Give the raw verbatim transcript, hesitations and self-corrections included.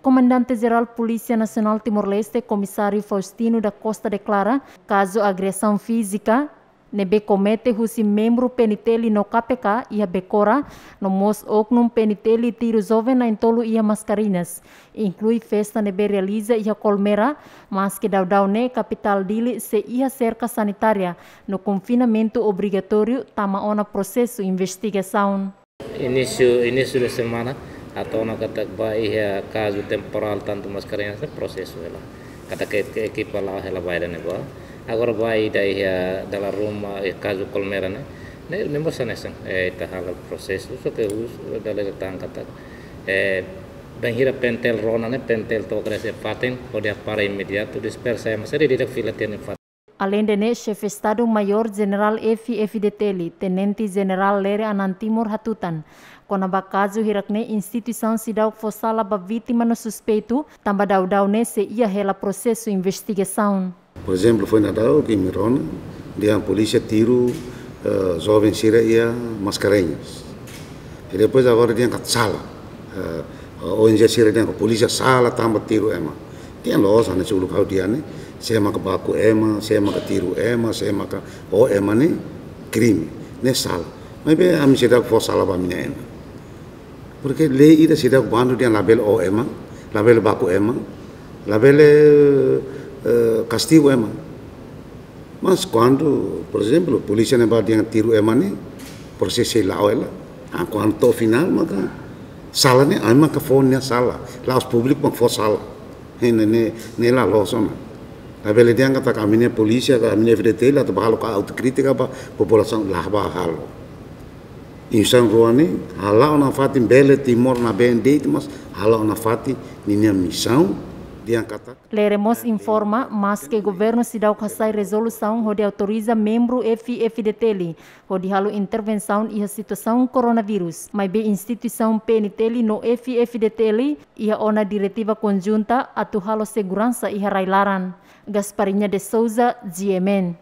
Komandante Jerál Polísia Nasionál Timor-Leste, Komisáriu Faustino da Costa deklara, kazu agresaun fízika ne'ebé komete husi membru P N T L no K P K iha Becora, no mós oknum P N T L tiru joven na'in-tolu iha Mascarenhas, inklui festa ne'ebé realiza iha Colmera, maske daudaun ne'e kapitál Dili sei iha serka sanitária no konfinamentu obrigatóriu tama ona prosesu investigasaun. Inísiu, inísiu de semana, atu ona katak ba iha kazu temporál tantu Mascarenhas ne'e prosesu hela. Katak ke, ke ekipa la'o hela ba ida-ne'e ba. Agora ba ida iha dala ruma iha kazu Colmera ne'e, ne'e, ne'e mós hanesan, eh, ita halo prosesu, só ke husu dala ida tan katak, eh, bainhira P N T L rona ne'e, P N T L to'o kres iha fatin, hodi hapara imediatu, dispersa ema sira ida-idak fila tiha nia fatin. Aleinde ne'e, Xefe Estadu Maiór Jenerál F-FDTL, Tenente Jenerál Lere Anan Timur hatutan, kona-ba kazu hirak-ne'e instituisaun seidauk fó sala ba vítima no suspeitu, tanba daudaun ne'e sei iha hela prosesu investigasaun. Por ezemplu, foin daudaun ke imi rona, dehan polísia tiru, eh, joven sira iha Mascarenhas. I depois agora dehan katak sala. Eh, O N G sira dehan katak polísia sala tanba tiru ema. Dehan loos, hanesan uluk ha'u dehan ne'e, sé maka baku ema, sé maka tiru ema, sé maka oho ema ne'e krime, ne'e sala. Maibé ami seidauk fó sala ba ami-nia ema. Porke lei ida seidauk bandu dehan labele oho ema, labele baku ema, labele, eh, kastigu ema. Mas kuandu, por ezemplu, polísia ne'ebá dehan tiru ema ne'e, prosesu sei la'o hela. Ah, kuandu to'o finál maka sala ne'e ami maka fó nia sala. La'ós públiku maka fó sala. Ne'e, ne'e, ne'e la loos ona. Labele dehan katak ami-nia polísia ka ami-nia F-FDTL atu ba halo ka autokrítika ba populasaun, la ba halo. Instituisaun rua ne'e hala'o nafatin bele Timor nabeen de'it, mas hala'o nafatin ninia misaun dehan katak. Lere mós informa, maske governu seidauk hasai rezolusaun hodi autoriza membru F-FDTL hodi halo intervensaun iha situasaun koronavírus, maibé instituisaun P N T L no F-FDTL iha ona diretiva konjunta atu halo seguransa iha rai-laran. Gasparinha de Souza, G M N.